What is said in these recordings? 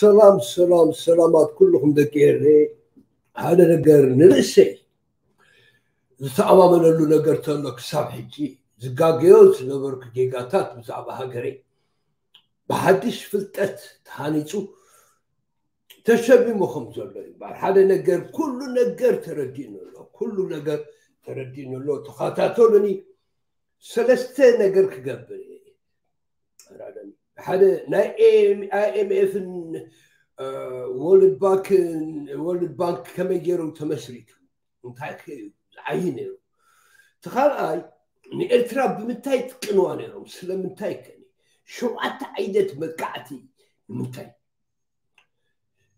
ሰላም ሰላም ሰላማት ኩልኹም ደቂ ኤሬ። ሓደ ነገር ንርእሰይ ዝተኣማመነሉ ነገር ተሎ ክሳብ ሕጂ ዝጋገዮ ዝነበርኩ ጌጋታት ብዛዕባ ሃገረይ ብሓድሽ ፍልጠት ተሃኒፁ ተሸሚሙ ከም ዘሎ እዩ እምበር ሓደ ነገር ኩሉ ነገር ተረዲእኒ ኣሎ። ኩሉ ነገር ተረዲእኒ ኣሎ። ተኸታተሉኒ። ሰለስተ ነገር ክገብር እየ። ሓደ ናይ ኣይኤምኤፍን ወርልድ ባንክን ወርልድ ባንክ ከመይ ገይሩ ተመስሪቱ እንታይ ከ እዩ ዝዓይ ነይሩ? እቲ ካልኣይ ንኤርትራ ብምንታይ ትቅንዋ ነይሮም? ስለምንታይ ከ ሸውዓተ ዓይነት መጥቃዕቲ ንምንታይ?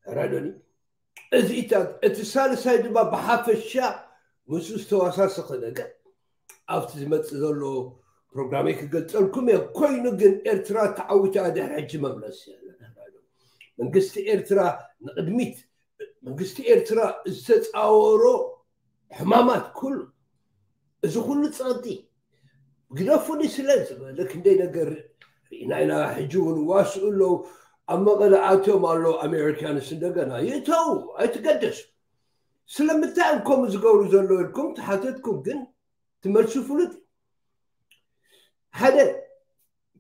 ረዶኒ እዚታት እቲ ሳልሳይ ድማ ብሓፈሻ ምስ ዝተዋሳሰኸ ነገር ኣብቲ ዝመፅእ ዘሎ ፕሮግራመይ ክገልፀልኩም እየ። ኮይኑ ግን ኤርትራ ተዓዊታ ድሕሪ ሕጂ መምለስ የለን። መንግስቲ ኤርትራ ንቕድሚት መንግስቲ ኤርትራ ዝተፃወሮ ሕማማት ኩሉ እዚ ኩሉ ፀቕጢ ግደፉኒ ስለ ዝበለ ክንደይ ነገር ርኢና ኢና። ሕጂ እውን ዋስኡ ኣለዉ። ኣብ መቐለ ኣትዮም ኣለዉ ኣሜሪካንስ እንደገና ይእተዉ ኣይትገደሱ። ስለምንታይ እዮም ከምኡ ዝገብሩ ዘለዉ ኢልኩም ተሓተትኩም ግን ትመልሱ ፍሉጥ እዩ። ሓደ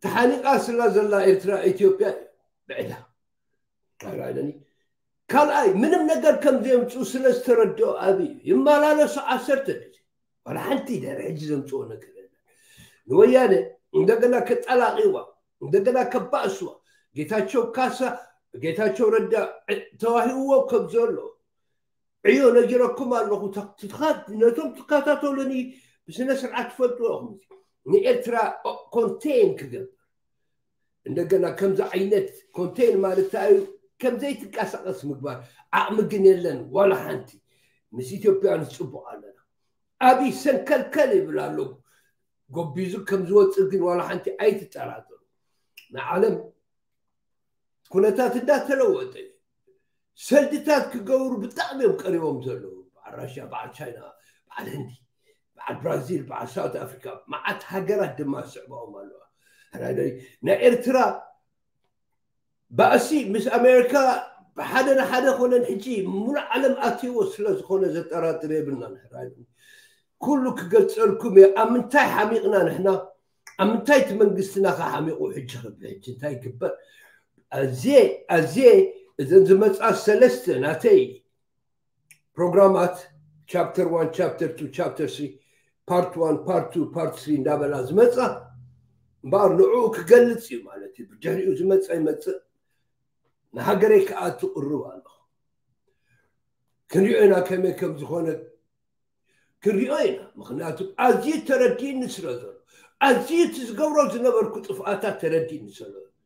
ተሓኒቓ ስላ ዘላ ኤርትራ ኢትዮጵያ እዩ ብዕዳ ኣይራለኒ ካልኣይ ምንም ነገር ከም ዘምፅኡ ስለ ዝተረድኦ ኣብይ እዩ ይመላለሱ ዓሰርተ ግዜ ዋላ ሓንቲ ድሕሪ ሕጂ ዘምፅኦ ነገር የለን። ንወያነ እንደገና ከጠላቂዋ እንደገና ከባእስዋ ጌታቸው ካሳ ጌታቸው ረዳ ተዋሂብዎ ከም ዘሎ ዕዮ ነጊረኩም ኣለኹ። ነቶም ትከታተሉኒ ብስነ ስርዓት ትፈልጥዎ ኢኹም። ንኤርትራ ኮንቴን ክገብር እንደገና ከምዚ ዓይነት ኮንቴን ማለት እንታይ እዩ? ከም ዘይትንቀሳቀስ ምግባር ዓቕሚ ግን የለን ዋላ ሓንቲ። ምስ ኢትዮጵያውያን ዝፅቡቕ ኣለና። ኣብይ ሰንከልከል ይብል ኣሎ። ጎቢዙ ከም ዝወፅእ ግን ዋላ ሓንቲ ኣይትጠራጠሩ። ንዓለም ኩነታት እንዳተለወጠ እዩ። ሰልድታት ክገብሩ ብጣዕሚ እዮም ቀሪቦም ዘለዉ። በዓል ራሽያ፣ በዓል ቻይና፣ በዓል ህንዲ፣ በዓል ብራዚል፣ በዓል ሳውት ኣፍሪካ፣ መዓት ሃገራት ድማ ዝስዕባኦም ኣለዋ። ሕራይ ናይ ኤርትራ ባእሲ ምስ ኣሜሪካ ብሓደ ንሓደ ኮነን ሕጂ ሙሉእ ዓለም ኣትይዎ ስለ ዝኾነ ዘጠራጥር የብልናን። ሕራይ ኩሉ ክገልፀልኩም እየ። ኣብ ምንታይ ሓሚቕና ንሕና? ኣብ ምንታይ እቲ መንግስትና ከሓሚቑ ሕጂ ክብል ሕጂ እንታይ ይግበር? ኣዝየ ኣዝየ እዘን ዝመፃ ሰለስተ ናተይ ፕሮግራማት ቻፕተር ዋን ቻፕተር ቱ ቻፕተር ስሪ ፓርት ዋን ፓርት ቱ ፓርት ስሪ እንዳበላ ዝመፃ እምበኣር ንዕኡ ክገልፅ እዩ ማለት እዩ። ብድሕሪኡ ዝመፃ ይመፅእ ንሃገረይ ክኣቱ ቅርብ ኣለኹ። ክንሪኦ ኢና ከመይ ከም ዝኾነ ክንሪኦ ኢና። ምክንያቱ ኣዝዩ ተረዲእኒ ስለ ዘሎ ኣዝዩ እቲ ዝገብሮ ዝነበርኩ ጥፍኣታት ተረዲእኒ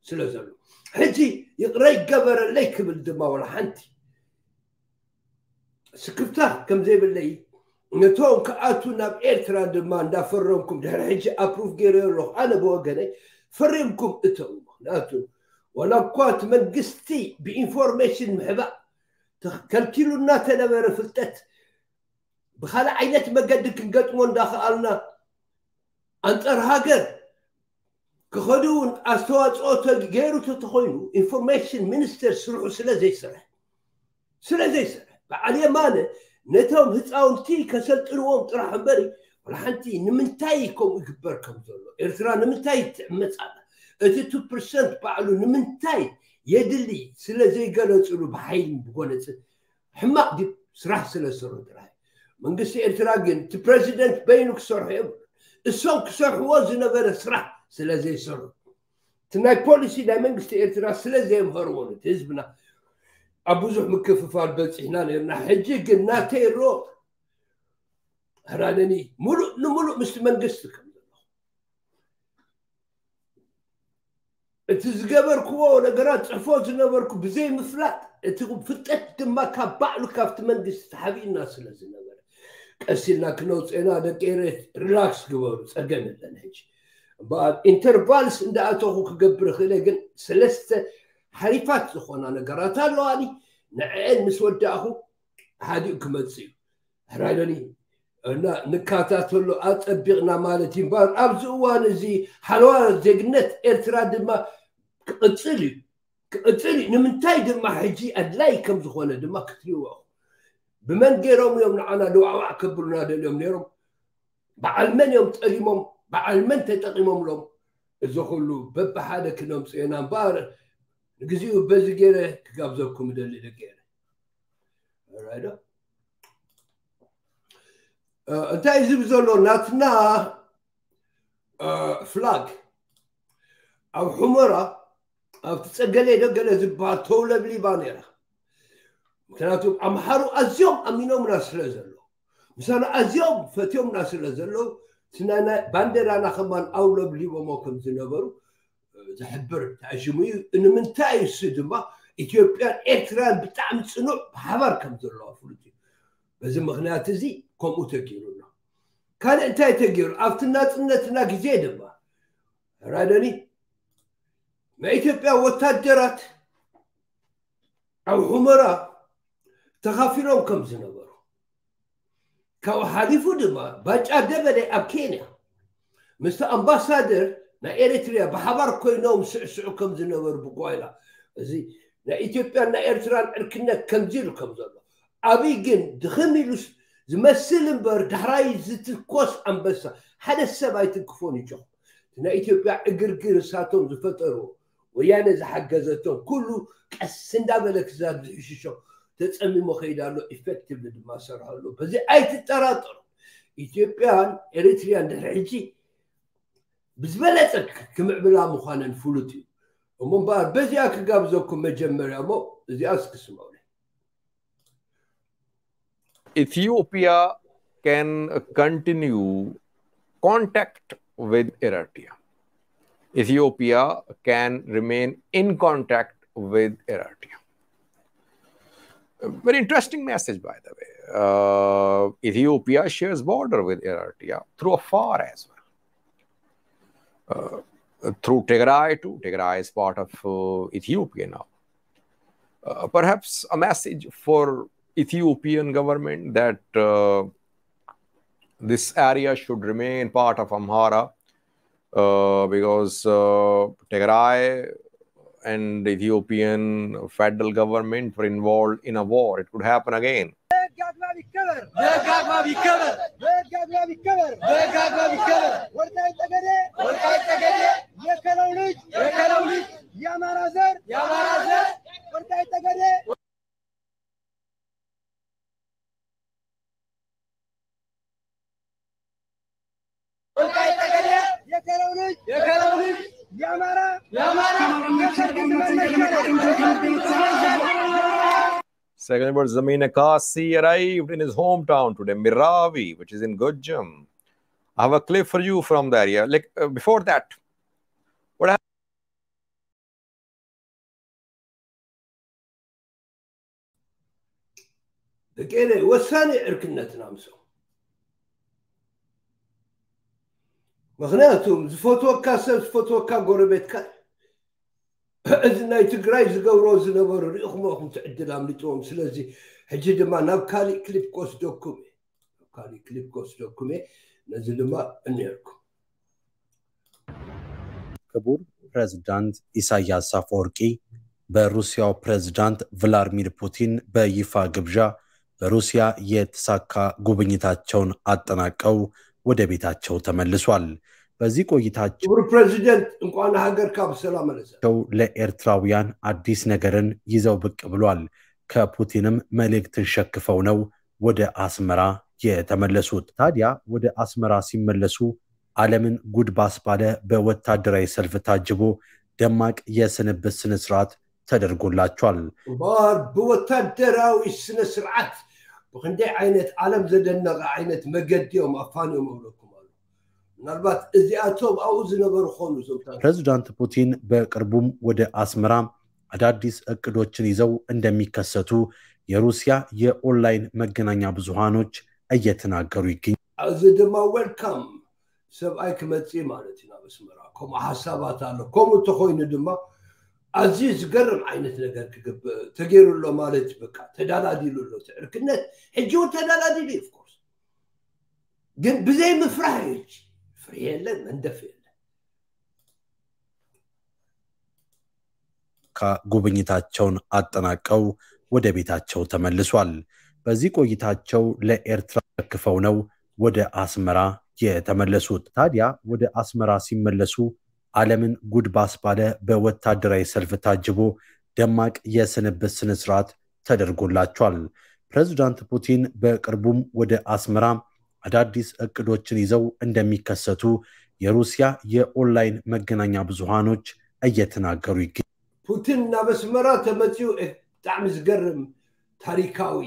ስለ ዘሎ ሕጂ ይቕረ ይገበረለይ ክብል ድማ ወላ ሓንቲ ስክፍታ ከም ዘይብለይ ነቶም ክኣቱ ናብ ኤርትራ ድማ እንዳፈረምኩም ድሕሪ ሕጂ ኣፕሩቭ ገይረ ኣለኹ። ኣነ ብወገነይ ፈሪምኩም እተው። ምክንያቱ ዋላ እኳ እቲ መንግስቲ ብኢንፎርሜሽን ምሕባእ ከልኪሉ እናተነበረ ፍልጠት ብካልእ ዓይነት መገዲ ክንገጥሞ እንዳኸኣልና ኣንጻር ሃገር ክኸዱ እውን ኣስተዋፅኦ ገይሩ ተተኮይኑ ኢንፎርሜሽን ሚኒስተር ስርሑ ስለ ዘይሰርሐ ስለ ዘይሰርሐ በዓል የማነ ነቶም ህፃውንቲ ከሰልጥንዎም ጥራሕ እምበሪ ወላ ሓንቲ ንምንታይ ከምኡ ይግበር ከም ዘሎ ኤርትራ ንምንታይ ትዕመፅ ኣላ እቲ ቱ ፐርሰንት ባዕሉ ንምንታይ የድሊ ስለ ዘይገለፅሉ ብሓይሊ ብጎነፅን ሕማቕ ድዩ ስራሕ ስለ ዝሰርሑ ጥራይ መንግስቲ ኤርትራ ግን እቲ ፕረዚደንት በይኑ ክሰርሑ የብሉ እሶም ክሰርሕዎ ዝነበረ ስራሕ ስለ ዘይሰርሑ እቲ ናይ ፖሊሲ ናይ መንግስቲ ኤርትራ ስለ ዘየምሀርዎ ነቲ ህዝብና ኣብ ብዙሕ ምክፍፋል በፂሕና ነርና ሕጂ ግን ናተይ ሮ ህራነኒ ሙሉእ ንሙሉእ ምስቲ መንግስቲ ከም ዘሎ እቲ ዝገበርክዎ ነገራት ፅሕፎ ዝነበርኩ ብዘይ ምፍላጥ እቲ ፍልጠት ድማ ካብ ባዕሉ ካብቲ መንግስቲ ተሓቢእና ስለ ዝነበረ ቀሲልና ክነውፅእና ደቂ ኤረ ሪላክስ ግበሩ ፀገም የለን ሕጂ እምበኣር ኢንተርቫልስ እንዳኣተኹ ክገብር ክእለ ግን ሰለስተ ሓሪፋት ዝኾና ነገራት ኣለዋኒ ንዕአን ምስ ወዳእኹ ሓዲኡ ክመፅእ እዩ ሕራይሎኒ እና ንከታተሎ ኣፀቢቕና ማለት እዩ እምበኣር ኣብዚ እዋን እዚ ሓለዋ ዜግነት ኤርትራ ድማ ክቕፅል እዩ ክቕፅል እዩ። ንምንታይ ድማ ሕጂ ኣድላይ ከም ዝኾነ ድማ ክትሪእዎ ኢኹም። ብመን ገይሮም እዮም ንዓና ልዋዕዋዕ ከብሉና ደልዮም ነይሮም? በዓል መን እዮም ጠሊሞም? በዓል መን ተጠቂሞምሎም? እዚ ኩሉ በብሓደ ክነምፅኦ ኢና እምበኣር ንግዚኡ በዚ ገይረ ክጋብዘኩም እደሊ ደቂ ኤረ። ራይዶ እንታይ ዝብ ዘሎ ናትና ፍላግ ኣብ ሑመራ ኣብቲ ጸገለ ደገለ ዝበሃል ተውለብሊባ ነይራ። ምክንያቱ ኣምሓሩ ኣዝዮም ኣሚኖምና ስለ ዘለዉ፣ ምሳና ኣዝዮም ፈትዮምና ስለ ዘለዉ፣ እቲ ናይ፣ ናይ ባንዴራና ከማን ኣውለብሊቦሞ ከም ዝነበሩ ዝሕብር ተኣሽሙ እዩ። ንምንታይ እሱ ድማ ኢትዮጵያን ኤርትራን ብጣዕሚ ጽኑዕ ብሓባር ከም ዘለዋ ፍሉጥ እዩ። በዚ ምኽንያት እዚ ከምኡ ተገይሩ ኣሎ። ካልእ እንታይ ተገይሩ? ኣብቲ ናጽነትና ግዜ ድማ ራደኒ ናይ ኢትዮጵያ ወታደራት ኣብ ሑመራ ተኻፊሎም ከም ዝነበሩ፣ ካብኡ ሓሊፉ ድማ ባጫ ደበሌ ኣብ ኬንያ ምስቲ ኣምባሳደር ናይ ኤሪትሪያ ብሓባር ኮይኖም ስዕስዑ ከም ዝነበሩ ብጓይላ፣ እዚ ናይ ኢትዮጵያን ናይ ኤርትራን ዕርክነት ከምዚ ኢሉ ከም ዘሎ፣ ኣብይ ግን ድኽም ኢሉ ዝመስል እምበር ዳሕራይ ዝትኮስ ኣንበሳ ሓደ ሰብ ኣይትንክፎን እዩ ጆ። ናይ ኢትዮጵያ ዕግርግር እሳቶም ዝፈጠርዎ፣ ወያነ ዝሓገዘቶም ኩሉ ቀስ እንዳበለ ክዛብ ዝሕሽሾ ተጸሚሞ ከይዳ ኣሎ። ኢፌክቲቭሊ ድማ ሰርሖ ኣሎ። በዚ ኣይትጠራጠሩ። ኢትዮጵያን ኤሪትሪያን ድሕሪ ሕጂ ብዝበለጸ ክምዕብላ ምዃነን ፍሉጥ እዩ። እሞ እምበኣር በዚኣ ክጋብዘኩም መጀመርያ እሞ እዚኣ እስክስመዑ። Ethiopia can continue contact with Eritrea. Ethiopia can remain in contact with Eritrea. A very interesting message, by the way. Uh, Ethiopia shares border with Eritrea through Afar as well. Uh, through Tigray too. Tigray is part of uh, Ethiopia now. Uh, perhaps a message for Ethiopian government that uh, this area should remain part of Amhara uh, because uh, Tigray and the Ethiopian federal government were involved in a war. It could happen again. Second verse, Zamina Kasi arrived in his hometown today, Miravi, which is in Gojam. I have a clip for you from the area. Like uh, before that, what happened? ደቂ ኤረይ ወሳኒ ዕርክነትና ምሶም። ምኽንያቱም ዝፈትወካ ሰብ ዝፈትወካ ጎረቤትካ እዚ ናይ ትግራይ ዝገብሮ ዝነበሩ ሪኢኹሞ ኢኹም ትዕድል ኣምልጥዎም። ስለዚ ሕጂ ድማ ናብ ካሊእ ክሊፕ ክወስደኩም እየ። ናብ ካሊእ ክሊፕ ክወስደኩም እየ። ነዚ ድማ እኒርኩም። ክቡር ፕሬዝዳንት ኢሳያስ አፈወርቂ በሩሲያው ፕሬዝዳንት ቭላድሚር ፑቲን በይፋ ግብዣ በሩሲያ የተሳካ ጉብኝታቸውን አጠናቀው ወደ ቤታቸው ተመልሷል። በዚህ ቆይታቸው ክቡር ፕሬዚደንት እንኳን ሀገር ካብ ሰላም መለሰ። ለኤርትራውያን አዲስ ነገርን ይዘው ብቅ ብሏል። ከፑቲንም መልእክትን ሸክፈው ነው ወደ አስመራ የተመለሱት። ታዲያ ወደ አስመራ ሲመለሱ ዓለምን ጉድ ባስባለ በወታደራዊ ሰልፍ ታጅቦ ደማቅ የስንብት ስነስርዓት ተደርጎላቸዋል። እምበኣር ብወታደራዊ ስነ ስርዓት ብክንደይ ዓይነት ዓለም ዘደነቐ ዓይነት መገዲ እዮም ኣፋንዮም እብለኩም ኣሎ። ምናልባት እዚኣቶም ኣብኡ ዝነበሩ ኾኑ እዞም ታሪኽ ፕሬዚዳንት ፑቲን በቅርቡም ወደ አስመራ አዳዲስ እቅዶችን ይዘው እንደሚከሰቱ የሩሲያ የኦንላይን መገናኛ ብዙሃኖች እየተናገሩ ይገኛል። እዚ ድማ ዌልካም ሰብኣይ ክመፅእ ማለት እዩ ናብ ኣስመራ። ከምኡ ሓሳባት ኣሎ። ከምኡ እንተኮይኑ ድማ ኣዝዩ ዝገርም ዓይነት ነገር ክግብእ ተገይሩ ኣሎ ማለት እዩ። በቃ ተዳላዲሉ ኣሎ እቲ ዕርክነት። ሕጂ እውን ተዳላዲሉ እዩ። ኦፍኮርስ ግን ብዘይ ምፍራህ እዩ። ሕጂ ፍርሂ የለን፣ መንደፍ የለን። የአሜሪካ ጉብኝታቸውን አጠናቀው ወደ ቤታቸው ተመልሷል። በዚህ ቆይታቸው ለኤርትራ አስረክፈው ነው ወደ አስመራ የተመለሱት። ታዲያ ወደ አስመራ ሲመለሱ ዓለምን ጉድ ባስባለ በወታደራዊ ሰልፍ ታጅቦ ደማቅ የስንብት ስነስርዓት ተደርጎላቸዋል። ፕሬዝዳንት ፑቲን በቅርቡም ወደ አስመራ አዳዲስ እቅዶችን ይዘው እንደሚከሰቱ የሩሲያ የኦንላይን መገናኛ ብዙሃኖች እየተናገሩ ይገኛሉ። ፑቲን ናብ ኣስመራ ተመጺኡ፣ እ፣ ብጣዕሚ ዝገርም ታሪካዊ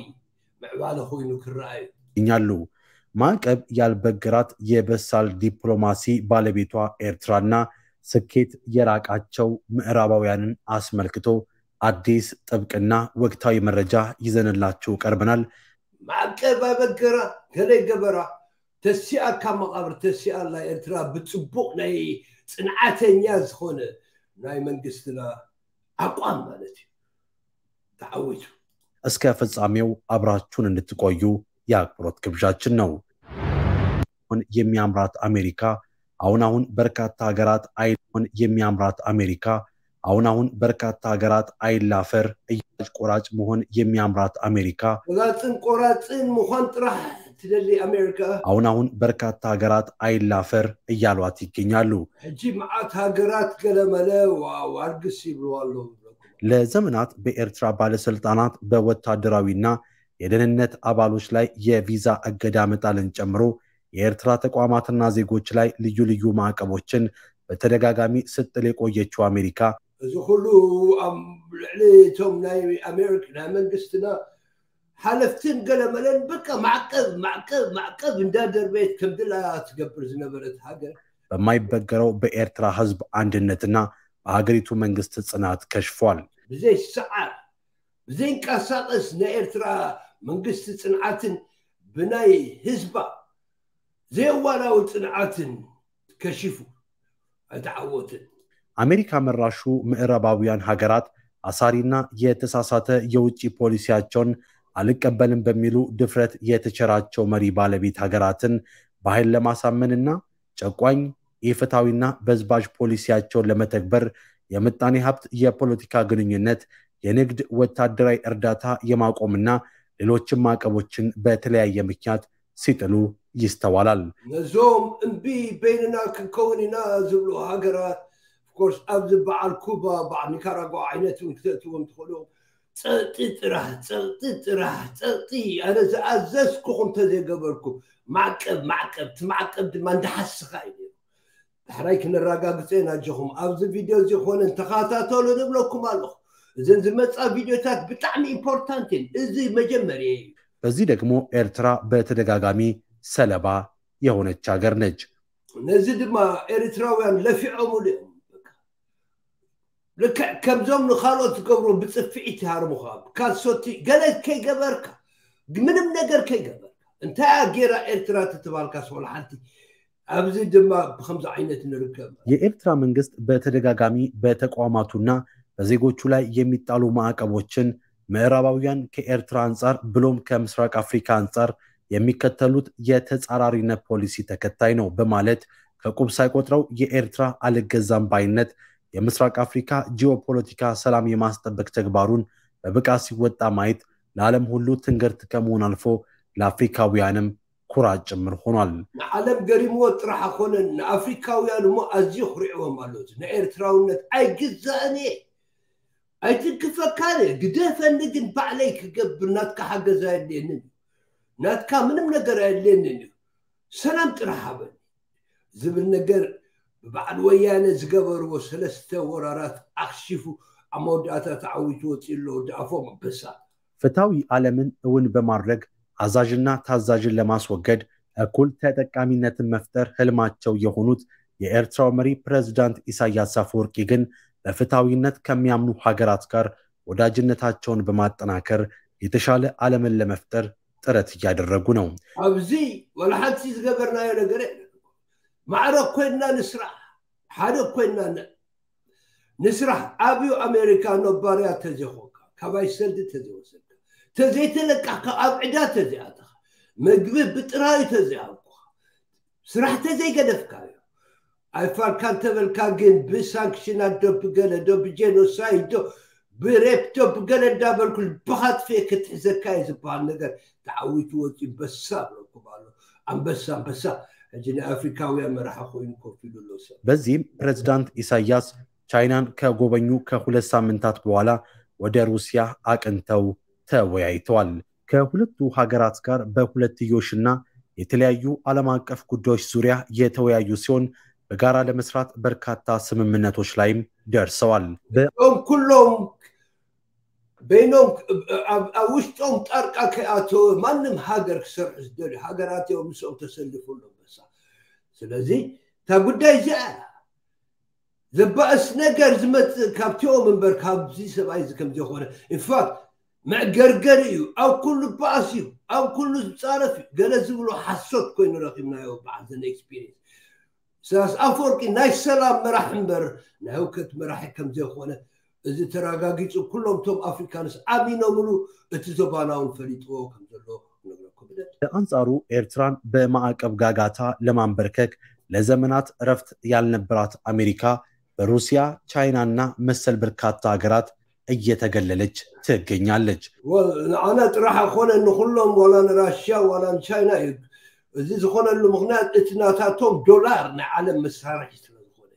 ምዕባለ ኮይኑ ክረኣዩ። ይገኛሉ። ማዕቀብ ያልበገራት የበሳል ዲፕሎማሲ ባለቤቷ ኤርትራና ስኬት የራቃቸው ምዕራባውያንን አስመልክቶ አዲስ ጥብቅና ወቅታዊ መረጃ ይዘንላችሁ ቀርበናል። ማዕቀብ ኣበገራ፣ ገለ ገበራ፣ ተሲኣካ መቓብር ተሲኣላ ኤርትራ ብጽቡቕ ናይ ጽንዓተኛ ዝኾነ ናይ መንግስትና ኣቋም ማለት እዩ ተዓዊቱ። እስከ ፍጻሜው አብራችሁን እንድትቆዩ የአክብሮት ግብዣችን ነው። የሚያምራት አሜሪካ አሁን አሁን በርካታ ሀገራት አይን የሚያምራት አሜሪካ አሁን አሁን በርካታ ሀገራት አይላፈር እያጭ ቆራጭ መሆን የሚያምራት አሜሪካ ቆራጽን ቆራጽን ምዃን ጥራሕ ትደሊ ኣሜሪካ። አሁን አሁን በርካታ ሀገራት አይላፈር እያሏት ይገኛሉ። ሕጂ መዓት ሃገራት ገለመለ ዋ-፣ ዋርግስ ይብሉ ኣለዉ። ለዘመናት በኤርትራ ባለስልጣናት በወታደራዊና የደህንነት አባሎች ላይ የቪዛ እገዳ መጣልን ጨምሮ የኤርትራ ተቋማትና ዜጎች ላይ ልዩ ልዩ ማዕቀቦችን በተደጋጋሚ ስትጥል የቆየችው አሜሪካ እዚ ኩሉ ኣብ ልዕሊ እቶም ናይ ኣሜሪካ ናይ መንግስትና ሓለፍትን ገለመለን በቃ ማዕቀብ፣ ማዕቀብ፣ ማዕቀብ እንዳደርበየት ከም ድላ ትገብር ዝነበረት ሃገር በማይበገረው በኤርትራ ህዝብ አንድነትና በሀገሪቱ መንግስት ጽናት ከሽፏል። ብዘይ ሰዓር፣ ብዘይንቀሳቀስ ናይ ኤርትራ መንግስቲ ጽንዓትን ብናይ ህዝባ ዘየዋላዊ ጽንዓትን ከሺፉ። ኣይተዓወትን። አሜሪካ መራሹ ምዕራባውያን ሀገራት አሳሪና የተሳሳተ የውጭ ፖሊሲያቸውን አልቀበልም በሚሉ ድፍረት የተቸራቸው መሪ ባለቤት ሀገራትን በኃይል ለማሳመንና ጨቋኝ፣ ኢፍትሐዊና በዝባዥ ፖሊሲያቸውን ለመተግበር የምጣኔ ሀብት፣ የፖለቲካ ግንኙነት፣ የንግድ፣ ወታደራዊ እርዳታ የማቆምና ሌሎችም ማዕቀቦችን በተለያየ ምክንያት ሲጥሉ ይስተዋላል። ነዞም እምቢ በይንና ክንከውን ኢና ዝብሉ ሃገራት፣ of course፣ ኣብዚ በዓል ኩባ፣ በዓል ኒካራጓ ዓይነት እውን ክተእትዎም ትኽእሉ። ጸቕጢ ጥራሕ፣ ጸቕጢ ጥራሕ፣ ጸቕጢ። ኣነ ዝኣዘዝኩኹም እንተዘይገበርኩም፣ ማዕቀብ፣ ማዕቀብ፣ እቲ ማዕቀብ ድማ እንዳሓስኻ እዩ ነይሩ። ዳሕራይ ክነረጋግጾ ኢና ኣጆኹም። ኣብዚ ቪድዮ እዚ ኮነ እንተኸታተሉ ንብለኩም ኣለኹ። እዘን ዝመጻ ቪድዮታት ብጣዕሚ ኢምፖርታንት እየን። እዚ መጀመርያ እዩ። በዚህ ደግሞ ኤርትራ በተደጋጋሚ ሰለባ የሆነች ሀገር ነች። ነዚ ድማ ኤርትራውያን ለፊዖምሉ እዮም። በቃ ልክዕ ከምዞም ንኻልኦት ዝገብሩ ብጽፍዒት ይሃርሙኻ። ካልሶቲ ገለ ከይገበርካ፣ ምንም ነገር ከይገበርካ፣ እንታይ እያ ጌራ ኤርትራ ተተባልካስ ወላ ሓንቲ? ኣብዚ ድማ ብኸምዚ ዓይነት ንርከብ። የኤርትራ መንግስት በተደጋጋሚ በተቋማቱና በዜጎቹ ላይ የሚጣሉ ማዕቀቦችን ምዕራባውያን ከኤርትራ አንጻር ብሎም ከምስራቅ አፍሪካ አንጻር የሚከተሉት የተጻራሪነት ፖሊሲ ተከታይ ነው በማለት ከቁብ ሳይቆጥረው የኤርትራ አልገዛም ባይነት የምስራቅ አፍሪካ ጂኦፖለቲካ ሰላም የማስጠበቅ ተግባሩን በብቃት ሲወጣ ማየት ለዓለም ሁሉ ትንግርት ከመሆን አልፎ ለአፍሪካውያንም ኩራት ጭምር ሆኗል። ንዓለም ገሪምዎ ጥራሕ ኣይኮነን፣ ንኣፍሪካውያን እሞ ኣዝዩ ኩሪዕዎም ኣሎ። እዚ ንኤርትራውነት ኣይግዛእን እየ፣ ኣይትንክፈካን እየ፣ ግደፈኒ ግን ባዕለይ ክገብር ናትካ ሓገዝ ኣየድልየንን እዩ። ናትካ ምንም ነገር ኣየድልየንን እዩ። ሰላም ጥራሕ ሃበኒ ዝብል ነገር ብበዓል ወያነ ዝገበርዎ ሰለስተ ወራራት ኣኽሺፉ ኣብ መወዳእታ ተዓዊቱ ወፂኡ ኣሎ። ወዲ ኣፎም ኣንበሳ። ፍትሐዊ ዓለምን እውን በማድረግ አዛዥና ታዛዥን ለማስወገድ እኩል ተጠቃሚነትን መፍጠር ህልማቸው የሆኑት የኤርትራው መሪ ፕሬዝዳንት ኢሳያስ አፈወርቂ ግን በፍትሐዊነት ከሚያምኑ ሀገራት ጋር ወዳጅነታቸውን በማጠናከር የተሻለ ዓለምን ለመፍጠር ጥረት እያደረጉ ነው። ኣብዚ ወላ ሓንቲ ዝገበርናዮ ነገር የለን። ማዕረ ኮይንና ንስራሕ፣ ሓደ ኮይንና ን-፣ ንስራሕ። ኣብዩ ኣሜሪካ ነባርያ ተዘይኮንካ፣ ካባይ ሰልዲ ተዘይወሰድካ፣ ተዘይተለቃሕካ፣ ኣብ ዕዳ ተዘይኣተኻ፣ ምግቢ ብጥራዩ ተዘይሃብኩኻ፣ ስራሕ ተዘይገደፍካዮ፣ ኣይፋልካ እንተበልካ ግን ብሳንክሽናት ዶ ብገለ ዶ ብጄኖሳይድ ዶ ብሬፕ ዶ ብገለ እንዳበልኩ ልብኻ ጥፍኤ ክትሕዘካ እዩ ዝበሃል ነገር ተዓዊቱ ወፂኡ በሳ ብለኩም ኣሎ። ኣንበሳ ኣንበሳ። ሕጂ ናይ ኣፍሪካውያን መራሒ ኮይኑ ኮፍ ኢሉ ኣሎ ሰብ። በዚህም ፕሬዝዳንት ኢሳያስ ቻይናን ከጎበኙ ከሁለት ሳምንታት በኋላ ወደ ሩሲያ አቅንተው ተወያይተዋል። ከሁለቱ ሀገራት ጋር በሁለትዮሽና የተለያዩ ዓለም አቀፍ ጉዳዮች ዙሪያ የተወያዩ ሲሆን በጋራ ለመስራት በርካታ ስምምነቶች ላይም ደርሰዋል። እም ኩሎም በይኖም ኣብ ውሽጦም ጣርቃ ከይኣተወ ማንም ሃገር ክሰርሑ ዝደልዩ ሃገራት እዮም ምስኦም ተሰልፉ ኣለዎም በሳ። ስለዚ እታ ጉዳይ እዚኣ ዘባእስ ነገር ዝመፅእ ካብቲኦም እምበር ካብዚ ሰብኣይ እዚ ከም ዘይኮነ ኢንፋክት መዕገርገሪ እዩ። ኣብ ኩሉ ባእስ እዩ፣ ኣብ ኩሉ ዝፃረፍ እዩ። ገለ ዝብሎ ሓሶት ኮይኑ ረኪብናዮ በዓል ዘነ ኤክስፒሪንስ። ኢሳያስ ኣፈወርቂ ናይ ሰላም መራሕ እምበር ናይ ህውከት መራሒ ከም ዘይኮነ እዚ ተረጋጊፁ። ኩሎም እቶም ኣፍሪካንስ ኣሚኖምሉ እቲ ዞባና እውን ፈሊጥዎ ከም ዘሎ ክነግረኩም እደሊ። በአንጻሩ ኤርትራን በማዕቀብ ጋጋታ ለማንበርከክ ለዘመናት እረፍት ያልነበራት አሜሪካ በሩሲያ፣ ቻይናና መሰል በርካታ ሀገራት እየተገለለች ትገኛለች። ንዓና ጥራሕ ኣይኮነ ንኩሎም ዋላ ንራሽያ ዋላ ንቻይና እዩ። እዚ ዝኾነሉ ምክንያት እቲ ናታቶም ዶላር ናይ ዓለም መሳርሒ ስለዝኾነ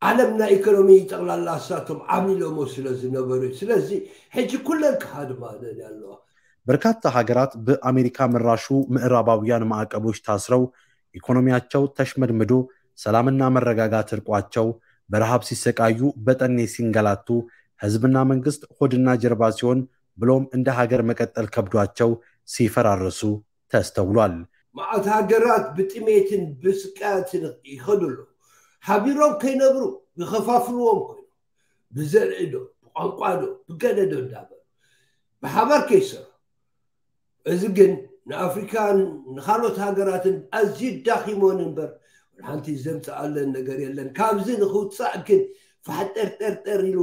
ዓለም ናይ ኢኮኖሚ ጠቕላላ እሳቶም ዓሚሎሞ ስለ ዝነበሩ እዩ። ስለዚ ሕጂ ኩለን ክሃድማ ደልያ ኣለዋ። በርካታ ሀገራት በአሜሪካ መራሹ ምዕራባውያን ማዕቀቦች ታስረው ኢኮኖሚያቸው ተሽመድምዶ ሰላምና መረጋጋት እርቋቸው በረሃብ ሲሰቃዩ በጠኔ ሲንገላቱ ህዝብና መንግስት ሆድና ጀርባ ሲሆን ብሎም እንደ ሀገር መቀጠል ከብዷቸው ሲፈራርሱ ተስተውሏል። መዓት ሃገራት ብጥሜትን ብስቃያትን ይኸዱ ኣለዉ። ሓቢሮም ከይነብሩ ይኸፋፍልዎም ኮይኑ ብዘርኢ ዶ ብቋንቋ ዶ ብገለ ዶ እንዳበሉ ብሓባር ከይሰርሑ። እዚ ግን ንኣፍሪካን ንካልኦት ሃገራትን ኣዝዩ ዳኺሞን እምበር ሓንቲ ዘምፅኣለን ነገር የለን። ካብዚ ንክውፃእ ግን ፋሕጠርጠርጠር ኢሉ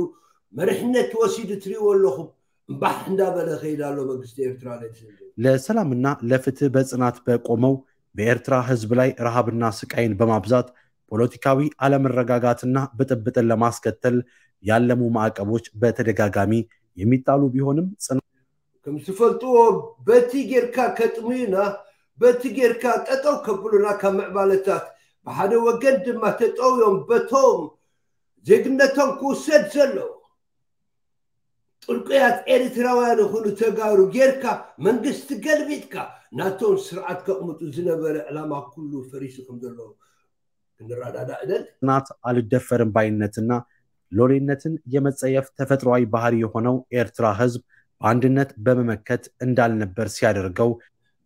መሪሕነት ወሲዱ ትሪእዎ ኣለኹም እምባሕ እንዳበለ ከይድ ኣሎ መንግስቲ ኤርትራ። ለሰላምና ለፍትህ በጽናት በቆመው በኤርትራ ህዝብ ላይ ረሃብና ስቃይን በማብዛት ፖለቲካዊ አለመረጋጋትና ብጥብጥን ለማስከተል ያለሙ ማዕቀቦች በተደጋጋሚ የሚጣሉ ቢሆንም ጽና ከም ዝፈልጥዎ በቲ ጌርካ ከጥምዩና በቲ ጌርካ ጠጠው ከብሉና ካብ ምዕባለታት ብሓደ ወገን ድማ ተጠውዮም በቶም ዜግነቶም ክውሰድ ዘለዎ ጥልቁያት ኤርትራውያን ይኹኑ ተጋሩ ጌርካ መንግስቲ ገልቢጥካ ናቶም ስርዓት ከቕምጡ ዝነበረ ዕላማ ኩሉ ፈሪሱ ከም ዘሎ ክንረዳዳእ እደል። ጽናት አልደፈርም ባይነትና ሎሌነትን የመጸየፍ ተፈጥሯዊ ባህሪ የሆነው ኤርትራ ህዝብ በአንድነት በመመከት እንዳልነበር ሲያደርገው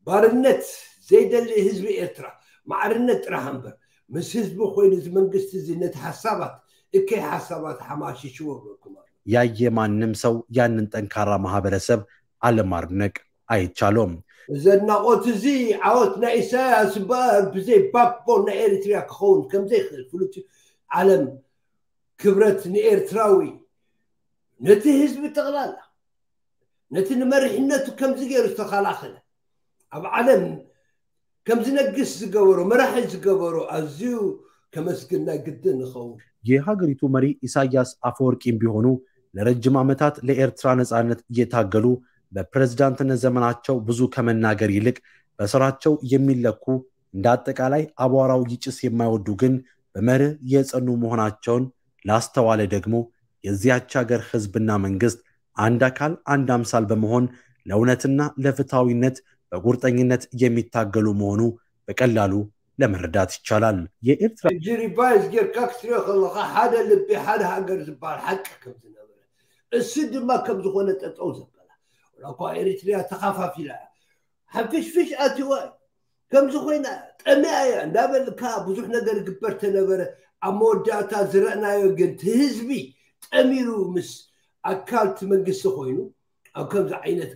ባርነት ዘይደሊ ህዝቢ ኤርትራ ማዕርነት ጥራሕ እምበር ምስ ህዝቢ ኮይኑ እዚ መንግስቲ እዚ ነቲ ሓሳባት እከይ ሓሳባት ሓማሽሽዎ ብለኩም ኣሎ። ያየ ማንም ሰው ያንን ጠንካራ ማህበረሰብ አለማድነቅ አይቻሎም። ዘድናቆት እዚ ዓወት ናይ ኢሳያስ እምበኣር ብዘይ ባክቦን ናይ ኤሪትሪያ ክኸውን ከምዘይክእል ፍሉት ዓለም ክብረት ንኤርትራዊ ነቲ ህዝቢ ጠቕላላ ነቲ ንመሪሕነቱ ከምዚ ገይሩ ዝተኸላኸለ ኣብ ዓለም ከም ዝነግስ ዝገበሮ መራሒ ዝገበሮ ኣዝዩ ከመስግን ናይ ግድን ንኸውን። የሀገሪቱ መሪ ኢሳያስ አፈወርቂም ቢሆኑ ለረጅም ዓመታት ለኤርትራ ነጻነት እየታገሉ በፕሬዝዳንትነት ዘመናቸው ብዙ ከመናገር ይልቅ በስራቸው የሚለኩ እንደ አጠቃላይ አቧራው ይጭስ የማይወዱ ግን በመርህ የጸኑ መሆናቸውን ላስተዋለ ደግሞ የዚያች ሀገር ህዝብና መንግስት አንድ አካል አንድ አምሳል በመሆን ለእውነትና ለፍትሐዊነት በቁርጠኝነት የሚታገሉ መሆኑ በቀላሉ ለመረዳት ይቻላል። የኤርትራ ሕጂ ሪቫይዝ ጌርካ ክትሪኦ ከለካ ሓደ ልቢ ሓደ ሃገር ዝበሃል ሓቂ ከም ዝነበረ እሱ ድማ ከም ዝኾነ ጠጠው ዘበላ ወላ እኳ ኤሪትሪያ ተኻፋፊላ እያ ሓፍሽፍሽ ኣትዋ እዩ ከምዚ ኮይና ጠሚያ እያ እንዳበልካ ብዙሕ ነገር ግበር ተነበረ ኣብ መወዳእታ ዝረእናዮ ግን እቲ ህዝቢ ጠሚሩ ምስ ኣካል እቲ መንግስቲ ኮይኑ ኣብ ከምዚ ዓይነት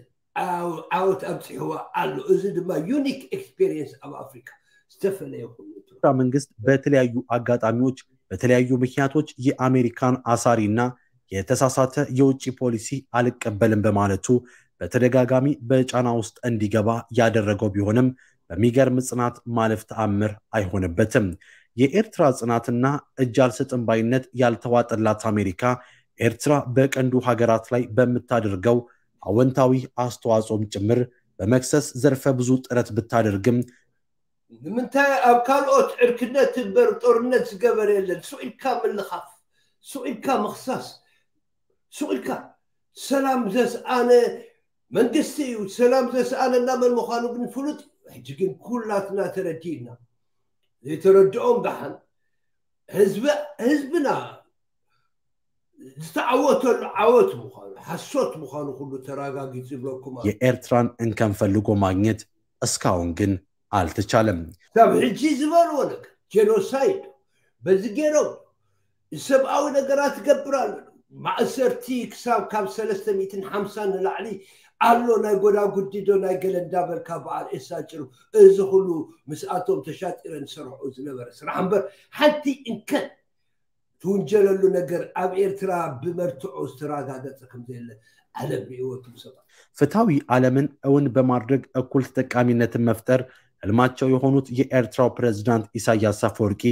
ዓወት ኣብፅሕዋ ኣሎ። እዚ ድማ ዩኒክ ኤክስፔሪየንስ ኣብ ኣፍሪካ ዝተፈለየ ኮይኑ መንግስት በተለያዩ አጋጣሚዎች በተለያዩ ምክንያቶች የአሜሪካን አሳሪና የተሳሳተ የውጭ ፖሊሲ አልቀበልም በማለቱ በተደጋጋሚ በጫና ውስጥ እንዲገባ ያደረገው ቢሆንም በሚገርም ጽናት ማለፍ ተአምር አይሆንበትም። የኤርትራ ጽናትና እጅ አልሰጥም ባይነት ያልተዋጠላት አሜሪካ ኤርትራ በቀንዱ ሀገራት ላይ በምታደርገው አወንታዊ አስተዋጽኦም ጭምር በመክሰስ ዘርፈ ብዙ ጥረት ብታደርግም ንምንታይ ኣብ ካልኦት ዕርክነት እምበር ጦርነት ዝገበር የለን። ሱቕ ኢልካ ምልኻፍ፣ ሱቕ ኢልካ ምኽሳስ፣ ሱቕ ኢልካ ሰላም ዘስኣነ መንግስቲ እዩ። ሰላም ዘስኣነና መን ምዃኑ ግን ፍሉጥ እዩ። ሕጂ ግን ኩላትና ተረዲእና። ዘይተረድኦም ደሓን ህዝብና ዝተዓወተሉ ዓወት ምዃኑ ሓሶት ምዃኑ ኩሉ ተረጋጊጹ ይብለኩም ኣሎ። የኤርትራን እንከን ፈልጎ ማግኘት እስካሁን ግን አልተቻለም። ካብ ሕጂ ዝበልዎ ነገር ጄኖሳይድ በዚ ገይሮም ሰብኣዊ ነገራት ትገብር ኣሎ። ማእሰርቲ ክሳብ ካብ ሰለስተ ሚእትን ሓምሳን ንላዕሊ ኣሎ። ናይ ጎዳጉዲ ዶ ናይ ገለ እንዳበልካ በዓል ኤሳ ጭሩ እዚ ኩሉ ምስኣቶም ተሻጢረን ዝሰርሕኦ ዝነበረ ስራሕ እምበር ሓንቲ እንከን ትውንጀለሉ ነገር ኣብ ኤርትራ ብመርትዖ ዝተረጋገጸ ከም ዘየለ ዓለም ርእይዎ እትም ሰባት። ፍትሐዊ ዓለምን እውን በማድረግ እኩል ተጠቃሚነትን መፍጠር ህልማቸው የሆኑት የኤርትራው ፕሬዝዳንት ኢሳያስ አፈወርቂ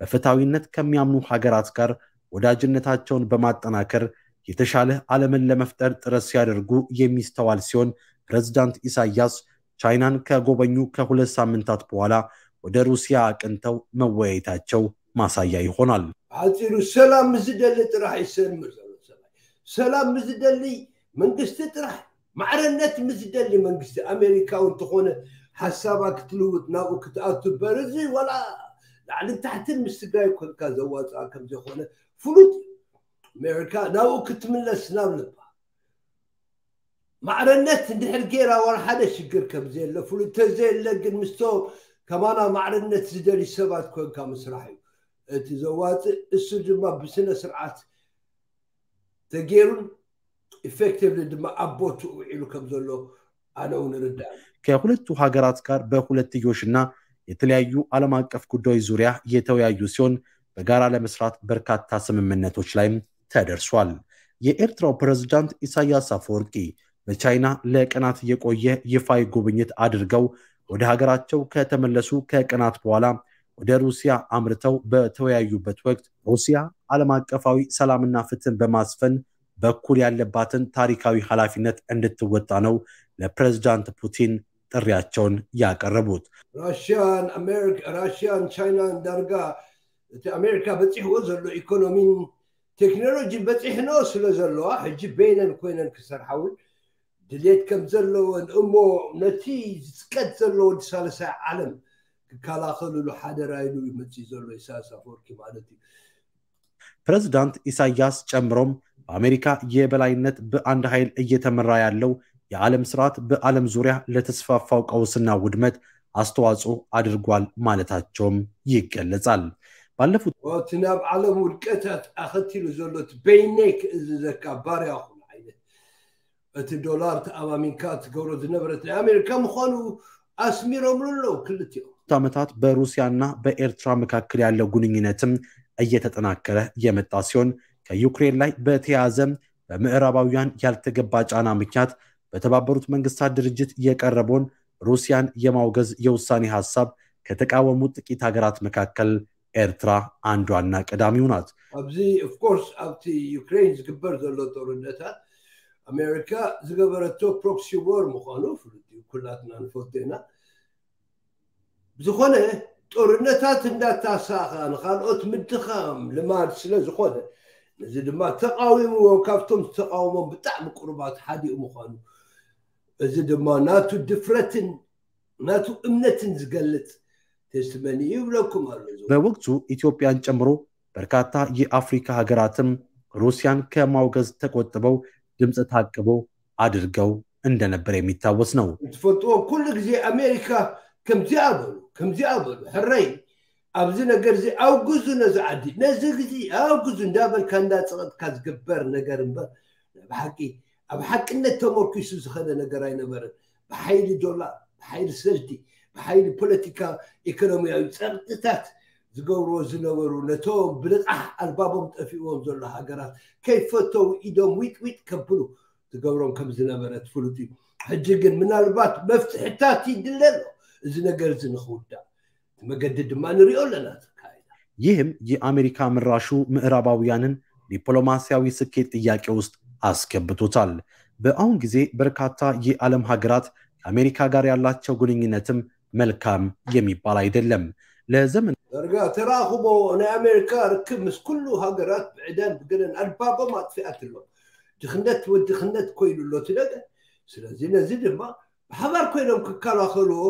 በፍትሐዊነት ከሚያምኑ ሀገራት ጋር ወዳጅነታቸውን በማጠናከር የተሻለ ዓለምን ለመፍጠር ጥረት ሲያደርጉ የሚስተዋል ሲሆን ፕሬዝዳንት ኢሳያስ ቻይናን ከጎበኙ ከሁለት ሳምንታት በኋላ ወደ ሩሲያ አቅንተው መወያየታቸው ማሳያ ይሆናል። ሓፂሩ ሰላም ምስ ዝደሊ ጥራሕ ይሰምር ዘሎ ሰብኣይ። ሰላም ምስ ዝደሊ መንግስቲ ጥራሕ፣ ማዕረነት ምስ ዝደሊ መንግስቲ ኣሜሪካ እውን እንተኾነ ሓሳባ ክትልውጥ ናብኡ ክትኣቱ እምበር እዚ ዋላ ላዕልን ታሕትን ምስ ትግራይ ኮንካ ዘዋፅኣ ከም ዘይኮነ ፍሉጥ እዩ። ኣሜሪካ ናብኡ ክትምለስ ናብ ልባ ማዕረነት እንድሕር ገይራ ዋላ ሓደ ሽግር ከም ዘየለ ፍሉጥ ተዘየለ ግን ምስቶ ከማና ማዕረነት ዝደሊ ሰባት ኮንካ ምስራሕ እዩ እቲ ዘዋፅእ። እሱ ድማ ብስነ ስርዓት ተገይሩን ኢፌክቲቭሊ ድማ ኣብ ቦትኡ ውዒሉ ከም ዘሎ ኣነ እውን እርዳእ። ከሁለቱ ሀገራት ጋር በሁለትዮሽና የተለያዩ ዓለም አቀፍ ጉዳዮች ዙሪያ የተወያዩ ሲሆን በጋራ ለመስራት በርካታ ስምምነቶች ላይም ተደርሷል። የኤርትራው ፕሬዝዳንት ኢሳያስ አፈወርቂ በቻይና ለቀናት የቆየ ይፋዊ ጉብኝት አድርገው ወደ ሀገራቸው ከተመለሱ ከቀናት በኋላ ወደ ሩሲያ አምርተው በተወያዩበት ወቅት ሩሲያ ዓለም አቀፋዊ ሰላምና ፍትህን በማስፈን በኩል ያለባትን ታሪካዊ ኃላፊነት እንድትወጣ ነው ለፕሬዝዳንት ፑቲን ጥሪያቸውን ያቀረቡት። ራሽያን ኣሜሪካ ራሽያን ቻይናን ዳርጋ እቲ ኣሜሪካ በፂሕዎ ዘሎ ኢኮኖሚን ቴክኖሎጂን በፂሕኖ ስለ ዘለዋ ሕጂ በይነን ኮይነን ክሰርሓ እውን ድሌት ከም ዘለወን እሞ ነቲ ዝፅቀት ዘሎ ወዲ ሳልሳይ ዓለም ክከላኸልሉ ሓደራ ኢሉ ይመፅእ ዘሎ ኢሳያስ ኣፈወርቂ ማለት እዩ። ፕሬዝዳንት ኢሳያስ ጨምሮም በአሜሪካ የበላይነት በአንድ ኃይል እየተመራ ያለው የዓለም ስርዓት በዓለም ዙሪያ ለተስፋፋው ቀውስና ውድመት አስተዋጽኦ አድርጓል ማለታቸውም ይገለጻል። ባለፉት እቲ ናብ ዓለም ውድቀታት ኣኸቲሉ ዘሎ እቲ በይነይ ክእዝዘካ ባርያ ኹን ዓይነት እቲ ዶላር ተኣማሚንካ ትገብሮ ዝነበረት ናይ ኣሜሪካ ምዃኑ ኣስሚሮምሉ ኣለዉ ክልቲኦም። ዓመታት በሩሲያና በኤርትራ መካከል ያለው ግንኙነትም እየተጠናከረ የመጣ ሲሆን ከዩክሬን ላይ በተያያዘ በምዕራባውያን ያልተገባ ጫና ምክንያት በተባበሩት መንግስታት ድርጅት የቀረበውን ሩሲያን የማውገዝ የውሳኔ ሐሳብ ከተቃወሙ ጥቂት ሀገራት መካከል ኤርትራ አንዷና ቀዳሚው ናት። ኣብዚ ኦፍኮርስ ኣብቲ ዩክሬን ዝግበር ዘሎ ጦርነታት ኣሜሪካ ዝገበረቶ ፕሮክሲ ዎር ምዃኑ ፍሉጥ እዩ። ኩላትና ንፈልጦ ኢና። ብዝኾነ ጦርነታት እንዳታሳኻ ንኻልኦት ምድኻም ልማድ ስለ ዝኾነ ነዚ ድማ ተቃዊምዎ ካብቶም ዝተቃወሞም ብጣዕሚ ቅሩባት ሓዲኡ ምዃኑ እዚ ድማ ናቱ ድፍረትን ናቱ እምነትን ዝገልጽ ቴስትመኒ ይብለኩም ኣሎ። በወቅቱ ኢትዮጵያን ጨምሮ በርካታ የአፍሪካ ሀገራትም ሩሲያን ከማውገዝ ተቆጥበው ድምፅ ታቅቦ አድርገው እንደነበር የሚታወስ ነው። ትፈልጥዎ ኩሉ ግዜ ኣሜሪካ ከምዚኣ በሉ ከምዚኣ በሉ ሕረይ ኣብዚ ነገር እዚ ኣውግዙ ነዚ ዓዲ ነዚ ግዜ ኣውግዙ እንዳበልካ እንዳፀቐጥካ ዝግበር ነገር እምበር ብሓቂ ኣብ ሓቅነት ተመርኪሱ ዝኸደ ነገር ኣይነበረን። ብሓይሊ ዶላር ብሓይሊ ሰልዲ ብሓይሊ ፖለቲካ ኢኮኖሚያዊ ፀቕጥታት ዝገብርዎ ዝነበሩ ነቶም ብልቓሕ ኣልባቦም ጠፊእዎም ዘሎ ሃገራት ከይፈተው ኢዶም ዊጥዊጥ ከብሉ ትገብሮም ከም ዝነበረት ፍሉጥ እዩ። ሕጂ ግን ምናልባት መፍትሕታት ይድለ ኣሎ። እዚ ነገር እዚ ንክውዳእ እቲ መገዲ ድማ ንሪኦ ኣለና ተካይዳ። ይህም የአሜሪካ ምራሹ ምዕራባውያንን ዲፕሎማሲያዊ ስኬት ጥያቄ ውስጥ አስገብቶታል። በአሁን ጊዜ በርካታ የዓለም ሀገራት ከአሜሪካ ጋር ያላቸው ግንኙነትም መልካም የሚባል አይደለም። ለዘመን ዳርጋ ተራኽቦ ናይ ኣሜሪካ ርክብ ምስ ኩሉ ሃገራት ብዕዳን ብገለን ኣልባቦም ኣጥፊኣትሎ። ድኽነት ወድኽነት ኮይኑ ኣሎ እቲ ነገር። ስለዚ ነዚ ድማ ብሓባር ኮይኖም ክከላኸልዎ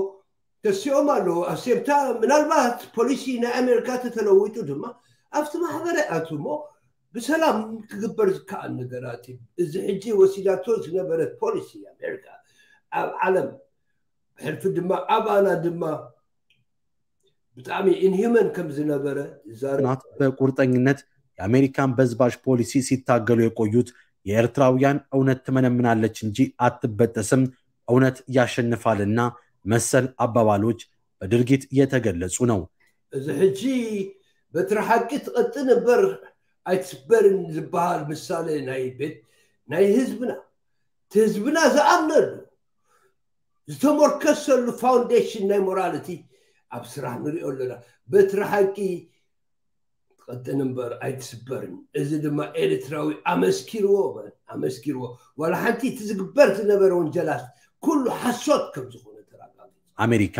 ተሲኦም ኣለዉ። ኣሴምታ ምናልባት ፖሊሲ ናይ ኣሜሪካ ተተለዊጡ ድማ ኣብቲ ማሕበረ ኣትሞ ብሰላም ክግበር ዝከኣል ነገራት እዩ። እዚ ሕጂ ወሲዳቶ ዝነበረት ፖሊሲ ኣሜሪካ ኣብ ዓለም ብሕልፊ ድማ ኣባና ድማ ብጣዕሚ ኢንሂመን ከም ዝነበረ ይዛረብ። ጽናት በቁርጠኝነት የአሜሪካን በዝባዥ ፖሊሲ ሲታገሉ የቆዩት የኤርትራውያን እውነት ትመነምናለች እንጂ አትበጠስም፣ እውነት ያሸንፋልና መሰል አባባሎች በድርጊት የተገለጹ ነው። እዚ ሕጂ በትሪ ሓቂ ትቐጥን እምበር ኣይትስበርን ዝበሃል ምሳሌ ናይ ቤት ናይ ህዝብና እቲ ህዝብና ዝኣምነሉ ዝተመርከሰሉ ፋውንዴሽን ናይ ሞራልቲ ኣብ ስራሕ ንሪኦ ኣለና። በትሪ ሓቂ ትቐጥን እምበር ኣይትስበርን። እዚ ድማ ኤርትራዊ ኣመስኪርዎ በል፣ ኣመስኪርዎ። ዋላ ሓንቲ እቲ ዝግበር ዝነበረ ወንጀላት ኩሉ ሓሶት ከም ዝኾነ ተረጋጊጹ። አሜሪካ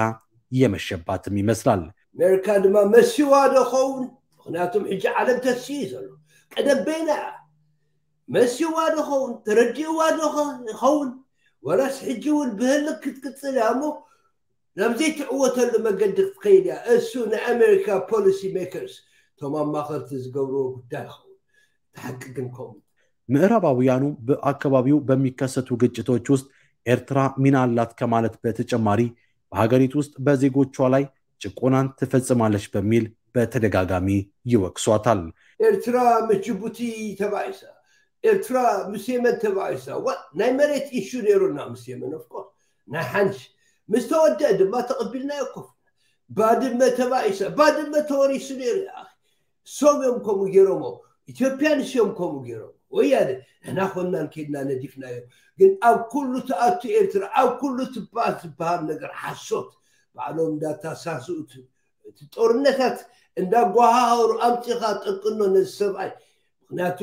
የመሸባትም ይመስላል። ኣሜሪካ ድማ መሲዋ ዶ ኸውን? ምክንያቱም ሕጂ ዓለም ተስዩ ዘሎ ቀደም በይና እያ። መሲዋ ዶ ኸውን? ተረዲእዋ ዶ ኸውን? ወላስ ሕጂ እውን ብህልክ ክትቅጽል እያ እሞ ናብ ዘይትዕወተሉ መገዲ ክትከይድ እያ። እሱ ናይ ኣሜሪካ ፖሊሲ ሜከርስ እቶም ኣማኸርቲ ዝገብርዎ ጉዳይ ይኸውን። እቲ ሓቂ ግን ከምኡ ምዕራባውያኑ በአካባቢው በሚከሰቱ ግጭቶች ውስጥ ኤርትራ ሚና አላት ከማለት በተጨማሪ በሀገሪቱ ውስጥ በዜጎቿ ላይ ጭቆናን ትፈጽማለች በሚል በተደጋጋሚ ይወቅሷታል። ኤርትራ ምስ ጅቡቲ ተባኢሳ፣ ኤርትራ ምስ የመን ተባኢሳ። ዋ ናይ መሬት ኢሹ ነይሩና ምስ የመን ኦፍኮርስ ናይ ሓንሽ ምስ ተወደአ ድማ ተቐቢልናዮ ኮፍ ባድመ ተባኢሳ፣ ባድመ ተወሪሱ ነይሩ። ሶም እዮም ከምኡ ገይሮሞ፣ ኢትዮጵያንስ እዮም ከምኡ ገይሮም። ወያነ ንሕና ኮንናን ከድና ነዲፍናዮም። ግን ኣብ ኩሉ ትኣቱ ኤርትራ ኣብ ኩሉ ትበሃል ዝበሃል ነገር ሓሶት ባዕሎም እንዳታሳስኡ እቲ ጦርነታት እንዳጓሃሃሩ ኣምፂኻ ጠቅኖ ነዚ ሰብኣይ ምክንያቱ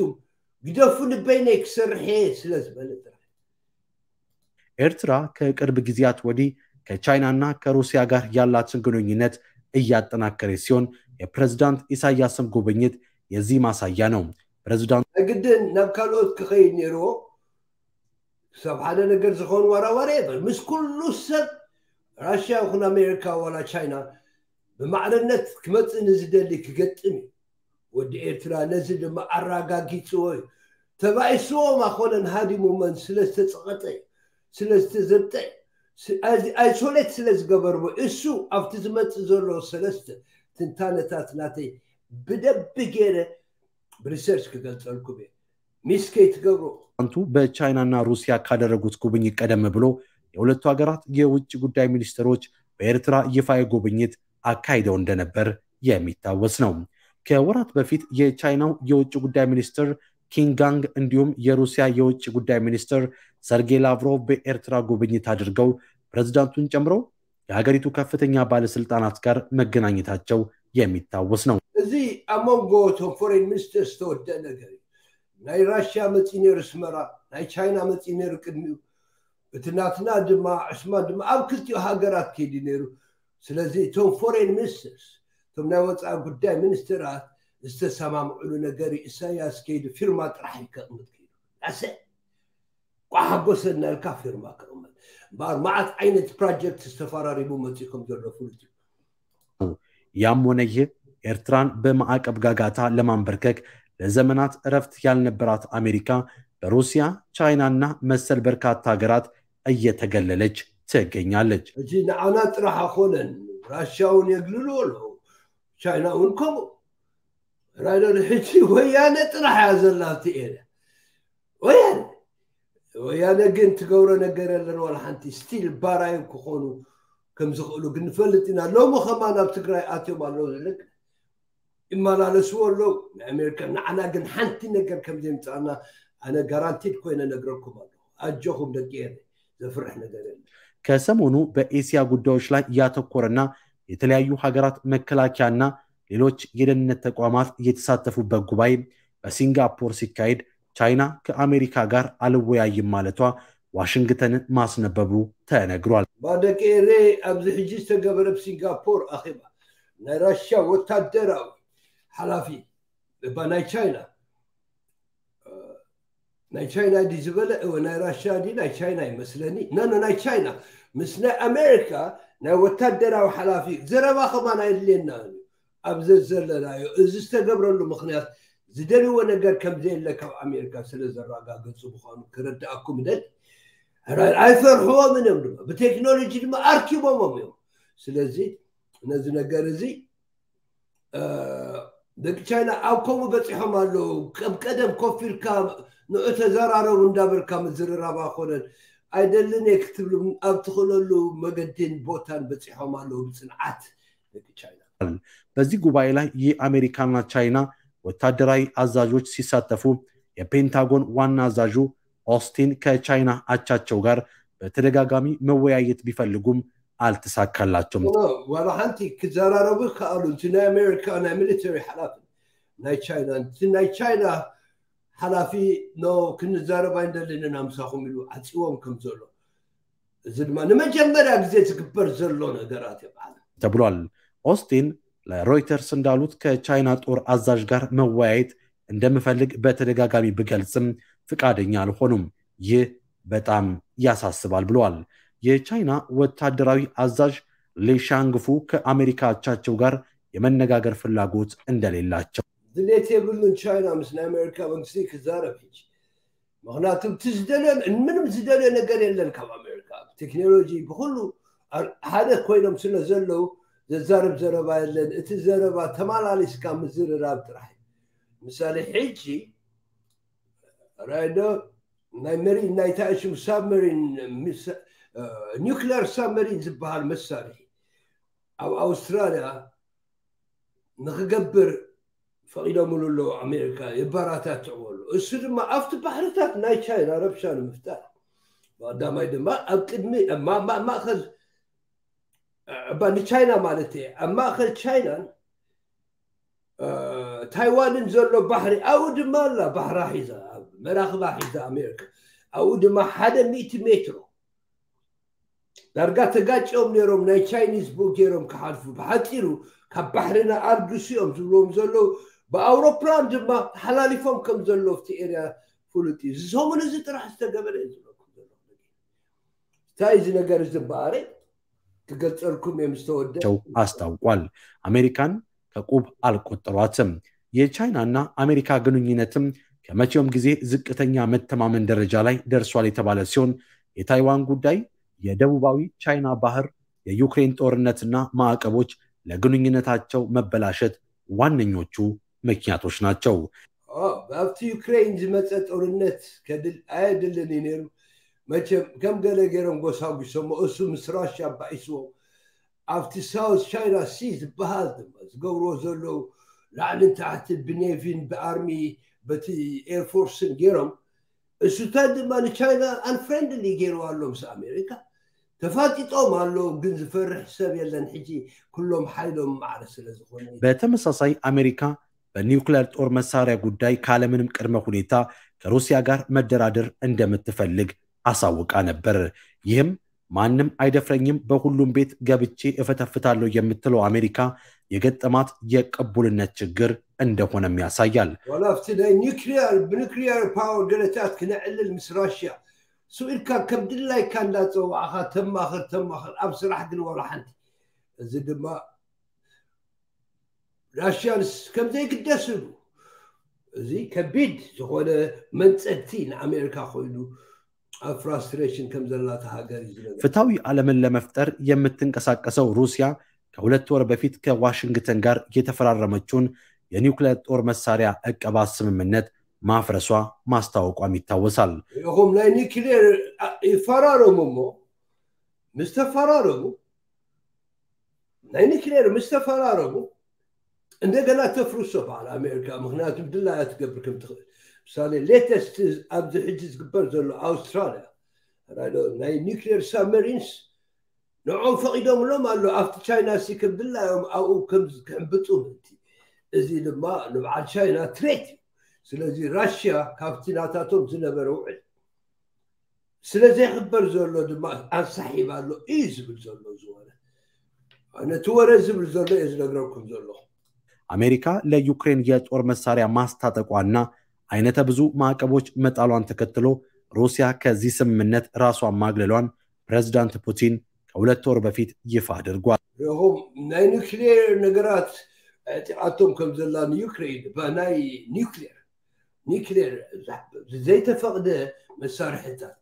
ግደፉ ንበይነይ ክሰርሕ እየ ስለ ዝበለ ጥራሕ። ኤርትራ ከቅርብ ጊዜያት ወዲህ ከቻይናና ከሩሲያ ጋር ያላትን ግንኙነት እያጠናከረች ሲሆን የፕሬዝዳንት ኢሳያስም ጉብኝት የዚህ ማሳያ ነው። ፕሬዝዳንቱ ግድን ናብ ካልኦት ክኸይድ ነይርዎ። ክሳብ ሓደ ነገር ዝኸውን ዋራዋሪ የበር ምስ ኩሉ ሰብ ራሽያ ይኹን ኣሜሪካ ዋላ ቻይና ብማዕርነት ክመፅእ ንዝደሊ ክገጥም እዩ። ወዲ ኤርትራ ነዚ ድማ ኣረጋጊፅዎ እዩ። ተባኢስዎም ኣኮነን ሃዲሙመን ስለ ዝተፀቐጠ እዩ፣ ስለ ዝተዘብጠ እዩ፣ ስ- ኣዚ- ኣይሶሌት ስለ ዝገበርዎ እሱ ኣብቲ ዝመፅእ ዘሎ ሰለስተ ትንታነታት ናተይ ብደንቢ ገይረ ብሪሰርች ክገልፀልኩም እየ። ሚስ ከይትገብሩ። ፕሬዝዳንቱ በቻይናና ሩሲያ ካደረጉት ጉብኝት ቀደም ብሎ የሁለቱ ሀገራት የውጭ ጉዳይ ሚኒስትሮች በኤርትራ ይፋ ጉብኝት አካሂደው እንደነበር የሚታወስ ነው። ከወራት በፊት የቻይናው የውጭ ጉዳይ ሚኒስትር ኪንጋንግ እንዲሁም የሩሲያ የውጭ ጉዳይ ሚኒስትር ሰርጌይ ላቭሮቭ በኤርትራ ጉብኝት አድርገው ፕሬዝዳንቱን ጨምሮ የሀገሪቱ ከፍተኛ ባለስልጣናት ጋር መገናኘታቸው የሚታወስ ነው። እዚ ኣብ መንጎ እቶም ፎሬን ሚኒስተርስ ዝተወደአ ነገር እዩ። ናይ ራሽያ መፂኡ ነይሩ ኣስመራ፣ ናይ ቻይና መፂኡ ነይሩ ቅድሚኡ። እቲ ናትና ድማ ዕስማን ድማ ኣብ ክልቲኡ ሃገራት ከይዱ ነይሩ። ስለዚ እቶም ፎሬን ሚኒስተርስ እቶም ናይ ወፃኢ ጉዳይ ሚኒስትራት ዝተሰማምዕሉ ነገር እዩ። ኢሳያስ ከይዱ ፊርማ ጥራሕ እዩ ከቕምጥ ከይዱ ዳሰ ቋሓጎሰ እናልካ ፊርማ ከቕመጥ እምበኣር መዓት ዓይነት ፕሮጀክት ዝተፈራሪሙ መፂኡ ከም ዘሎ ፍሉጥ እዩ። ያም ሆነ ይህ ኤርትራን በማዕቀብ ጋጋታ ለማንበርከክ ለዘመናት እረፍት ያልነበራት አሜሪካ በሩሲያ፣ ቻይናና መሰል በርካታ ሀገራት እየተገለለች ትገኛለች። ሕጂ ንዓና ጥራሕ ኣኮነን ራሽያ እውን የግልሉ ኣለዉ፣ ቻይና እውን ከምኡ። ራይደር ሕጂ ወያነ ጥራሕ እያ ዘላ ኣብቲ ኤርያ ወያነ ወያነ ግን ትገብሮ ነገር የለን ዋላ ሓንቲ ስቲል ባራዮም ክኾኑ ከም ዝኽእሉ ግን ንፈልጥ ኢና። ሎሚ ከማን ኣብ ትግራይ ኣትዮም ኣለዉ ዝልክ ይመላለስዎ ኣለዉ ናይ ኣሜሪካ። ንዓና ግን ሓንቲ ነገር ከም ዘይምፃና ኣነ ጋራንቲድ ኮይነ ነግረኩም ኣለኹ። ኣጆኹም ደቂ ኤረ ዘፍርሕ ነገር የለን። ከሰሞኑ በኤስያ ጉዳዮች ላይ ያተኮረና የተለያዩ ሀገራት መከላከያና ሌሎች የደህንነት ተቋማት የተሳተፉበት ጉባኤ በሲንጋፖር ሲካሄድ ቻይና ከአሜሪካ ጋር አልወያይም ማለቷ ዋሽንግተንን ማስነበቡ ተነግሯል። ባደቂ ኤሬ ኣብዚ ሕጂ ዝተገበረ ኣብ ሲንጋፖር ኣኼባ ናይ ራሽያ ወታደራዊ ሓላፊ እባ ናይ ቻይና ናይ ቻይና ዲ ዝበለ እወ ናይ ራሽያ ዲ ናይ ቻይና ይመስለኒ ነኖ ናይ ቻይና ምስ ናይ ኣሜሪካ ናይ ወታደራዊ ሓላፊ ዘረባ ከማን ኣየድልየና እዩ ኣብ ዘዘለናዮ እዚ ዝተገብረሉ ምክንያት ዝደልዎ ነገር ከም ዘየለ ካብ ኣሜሪካ ስለ ዘረጋገፁ ምኳኑ ክረዳእኩም ደል ኣይፈርሕዎምን እዮም ድማ ብቴክኖሎጂ ድማ ኣርኪቦሞም እዮም ስለዚ ነዚ ነገር እዚ ደቂ ቻይና ኣብ ከምኡ በፂሖም ኣለዉ ከም ቀደም ኮፍ ኢልካ ንዑ ተዘራረቡ እንዳበልካ ምዝርራብ ኣኮነን ኣይደልን እየ ክትብሉ ኣብ ትኽእለሉ መገድን ቦታን በፂሖም ኣለዉ ብፅንዓት ደቂ ቻይና በዚህ ጉባኤ ላይ የአሜሪካና ቻይና ወታደራዊ አዛዦች ሲሳተፉ የፔንታጎን ዋና አዛዡ ኦስቲን ከቻይና አቻቸው ጋር በተደጋጋሚ መወያየት ቢፈልጉም አልተሳካላቸውም። ዋላ ሓንቲ ክዘራረቡ ይከኣሉ እቲ ናይ ኣሜሪካ ናይ ሚሊተሪ ሓላፊ ናይ ቻይና እቲ ናይ ቻይና ሓላፊ ኖ ክንዘረብ ኣይንደልን ኢና ምሳኹም ኢሉ ዓፂዎም ከም ዘሎ እዚ ድማ ንመጀመርያ ግዜ ዝግበር ዘሎ ነገራት ይበሃል ተብሏል። ኦስቲን ለሮይተርስ እንዳሉት ከቻይና ጦር አዛዥ ጋር መወያየት እንደምፈልግ በተደጋጋሚ ብገልጽም ፍቃደኛ አልሆኑም። ይህ በጣም ያሳስባል ብለዋል። የቻይና ወታደራዊ አዛዥ ሊሻንግፉ ከአሜሪካ አቻቸው ጋር የመነጋገር ፍላጎት እንደሌላቸው ድሌት የብሉን ቻይና ምስ ናይ ኣሜሪካ መንግስቲ ክዛረብ ሕጂ ምክንያቱ እቲ ዝደልዮ ምንም ዝደልዮ ነገር የለን ካብ ኣሜሪካ ቴክኖሎጂ ብኩሉ ሓደ ኮይኖም ስለ ዘለዉ ዘዛርብ ዘረባ የለን እቲ ዘረባ ተማላሊስካ ምዝርራብ ጥራሕ ምሳሌ ሕጂ ራይዶ ናይ መሪን ናይ ታእሽም ሳብመሪን ኒክሌር ሳብመሪን ዝበሃል መሳርሒ ኣብ ኣውስትራልያ ንክገብር ፈቒዶምሉ ኣለዉ ኣሜሪካ የባራታትዕዎ ኣለዉ እሱ ድማ ኣብቲ ባሕርታት ናይ ቻይና ረብሻ ንምፍጣር ቀዳማይ ድማ ኣብ ቅድሚ ማእከል እባ ንቻይና ማለት እየ ኣብ ማእከል ቻይናን ታይዋንን ዘሎ ባሕሪ ኣብኡ ድማ ኣላ ባሕራ ሒዛ መራኽባ ሒዛ ኣሜሪካ ኣብኡ ድማ ሓደ ሚእቲ ሜትሮ ዳርጋ ተጋጭዮም ነይሮም ናይ ቻይኒዝ ቡ ገይሮም ክሓልፉ ብሓፂሩ ካብ ባሕርና ኣርግሱ እዮም ዝብልዎም ዘለዉ ብኣውሮፕላን ድማ ተሓላሊፎም ከም ዘለዉ ኣብቲ ኤርያ ፍሉጥ እዩ እዚ ሰሙን እዚ ጥራሕ ዝተገበረ እዩ ዝብለኩም ዘለኹ እንታይ እዚ ነገር እዚ በኣረ ክገልፀልኩም እዮም ዝተወደ አስታውቋል። አሜሪካን ከቁብ አልቆጠሯትም። የቻይናና አሜሪካ ግንኙነትም ከመቼውም ጊዜ ዝቅተኛ መተማመን ደረጃ ላይ ደርሷል የተባለ ሲሆን የታይዋን ጉዳይ፣ የደቡባዊ ቻይና ባህር፣ የዩክሬን ጦርነትና ማዕቀቦች ለግንኙነታቸው መበላሸት ዋነኞቹ ምክንያቶች ናቸው። ኣብቲ ዩክሬን ዝመፀ ጦርነት ከድል ኣየድልን እዩ ነይሩ መቸም ከም ገለ ገይሮም ጎሳጒሶሞ እሱ ምስ ራሽያ ኣባኢስዎም ኣብቲ ሳውት ቻይና ሲ ዝበሃል ድማ ዝገብርዎ ዘለዉ ላዕልን ታሕቲ ብኔቪን ብኣርሚ በቲ ኤርፎርስን ገይሮም እሱታት ድማ ንቻይና ኣንፍሬንድሊ ገይርዋ ኣሎ ምስ ኣሜሪካ ተፋጢጦም ኣለዉ ግን ዝፈርሕ ሰብ የለን ሕጂ ኩሎም ሓይሎም ማዕረ ስለ ዝኾነ በተመሳሳይ አሜሪካ በኒውክሌር ጦር መሳሪያ ጉዳይ ካለምንም ቅድመ ሁኔታ ከሩሲያ ጋር መደራደር እንደምትፈልግ አሳውቃ ነበር። ይህም ማንም አይደፍረኝም፣ በሁሉም ቤት ገብቼ እፈተፍታለሁ የምትለው አሜሪካ የገጠማት የቅቡልነት ችግር እንደሆነም ያሳያል። ዋላ ኣብቲ ናይ ኒክሊየር ብኒክሊየር ፓወር ገለታት ክነዕልል ምስ ራሽያ ስኢልካ ከም ድላይካ እንዳፀዋዕኻ ተማኽር ተማኽር ኣብ ስራሕ ግን ዋላ ሓንቲ እዚ ድማ ራሽያንስ ከም ዘይግደስሉ እዚ ከቢድ ዝኾነ መንፀግቲ ንኣሜሪካ ኮይኑ ኣብ ፍራስትሬሽን ከም ዘላታ ሃገር እዩ ዝነገር ፍትሐዊ ዓለምን ለመፍጠር የምትንቀሳቀሰው ሩሲያ ከሁለት ወር በፊት ከዋሽንግተን ጋር የተፈራረመችውን የኒውክሌር ጦር መሳሪያ እቀባ ስምምነት ማፍረሷ ማስታወቋም ይታወሳል። ኢኹም ናይ ኒክሌር ይፈራረሙ እሞ ምስ ተፈራረሙ ናይ ኒክሌር ምስ ተፈራረሙ እንደገና ተፍርሶ በዓል ኣሜሪካ ምክንያቱ ድላያ ትገብር ከም ትኽእል ምሳሌ ሌተስት ኣብዚ ሕጂ ዝግበር ዘሎ ኣውስትራልያ ናይ ኒክሌር ሳብመሪንስ ንዕኦም ፈቒዶምሎም ኣሎ ኣብቲ ቻይና ሲ ከም ድላዮም ኣብኡ ከም ክሕምብጡ ምእንቲ። እዚ ድማ ንበዓል ቻይና ትሬት እዩ። ስለዚ ራሽያ ካብቲ ናታቶም ዝነበረ ውዕል ስለ ዘይኽበር ዘሎ ድማ ኣንሳሒብ ኣሎ እዩ ዝብል ዘሎ እዚ ወረ። ነቲ ወረ ዝብል ዘሎ እየ ዝነግረኩም ዘለኹ። አሜሪካ ለዩክሬን የጦር መሳሪያ ማስታጠቋና አይነተ ብዙ ማዕቀቦች መጣሏን ተከትሎ ሩሲያ ከዚህ ስምምነት ራሷን ማግለሏን ፕሬዝዳንት ፑቲን ከሁለት ወር በፊት ይፋ አድርጓል። ረኹም ናይ ኒክሌር ነገራት ዕጢቓቶም ከም ዘላ ንዩክሬን ብናይ ኒክሌር ኒክሌር ዘይተፈቕደ መሳርሕታት